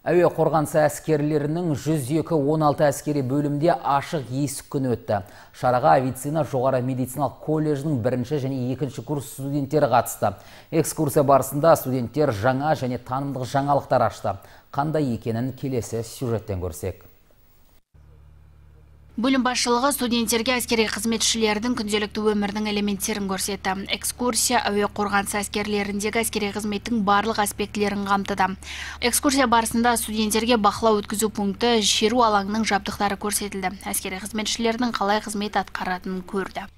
Әуе қорғанысы әскерлерінің 102-16 әскери бөлімде ашық есік күні өтті. Шараға авиацияны жоғары медициналық колледжінің 1-ші және 2-ші курс студенттері қатысты. Экскурсия барысында студенттер жаңа және танымдық жаңалықтар ашты. Қандай екенін келесі сюжеттен көрсек. Бөлім басшылығы студенттерге әскери қызметшілердің күнделікті өмірдің элементтерін көрсетті. Экскурсия әуе қорғанысы әскерлеріндегі әскери қызметтің барлық аспектілерін қамтыды. Экскурсия барысында студенттерге бақылау өткізу пункті, шеру алаңының жабдықтары көрсетілді. Әскери қызметшілердің қалай қызмет атқаратынын көрді.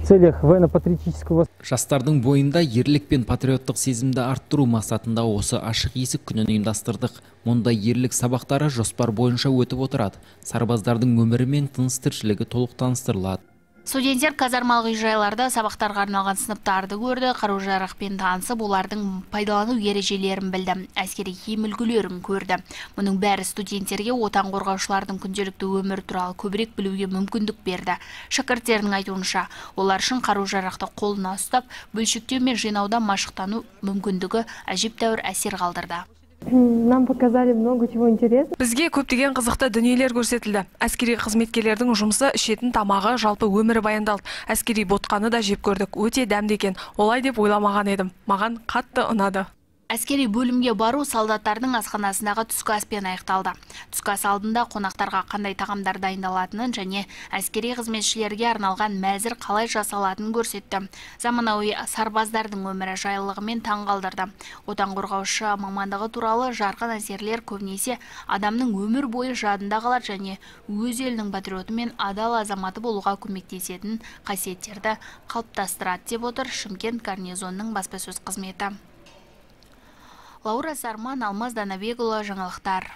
Жастардың бойында ерлік пен патриоттық сезімді арттыру мақсатында осы ашық есік күнін ұйымдастырдық. Мұнда ерлік сабақтары жоспар бойынша өтіп отырады. Сарбаздардың өмірі мен тыныс тіршілігі толық таныстырылады. Студенттер казармалық үй-жайларда сабақтарға арналған сыныптарды көрді, қару-жарақпен танысып, олардың пайдалану ережелерін білді, әскери киім үлгілерін көрді. Мұның бәрі студенттерге отан қорғаушылардың күнделікті өмір туралы көбірек білуге мүмкіндік берді. Шәкірттердің айтуынша, олар үшін қару-жарақты қолына ұстап, бөлшектеу мен жинаудан машықтану мүмкіндігі әжептәуір әсер қалдырды. Нам показали много чего интересного. Бізге көптеген қызықты дүниелер көрсетілді. Әскери қызметкерлердің жұмысы, ішетін тамағы, жалпы өмірі баяндалды. Әскери ботқаны да жеп көрдік. Өте дәмді екен. Олай деп ойламаған едім. Маған қатты ұнады. Әскери бөлімге бару солдаттардың асханасындағы түскі аспен аяқталды. Түскі ас алдында қонақтарға қандай тағамдар дайындалатынын және әскери қызметшілерге арналған мәзір қалай жасалатынын көрсетті. Заманауи сарбаздардың өмірі жайлылығымен таң қалдырды. Отан қорғаушы мамандығы туралы жарқын әсерлер көбінесе адамның өмір бойы жадында қалады және өз елінің патриоты мен адал азаматы болуға көмектесетін қасиеттерді қалыптастырады деп отыр Шымкент гарнизонының баспасөз қызметі. Лаура Сарман, Алмаз Данабекұлы, жаңалықтар.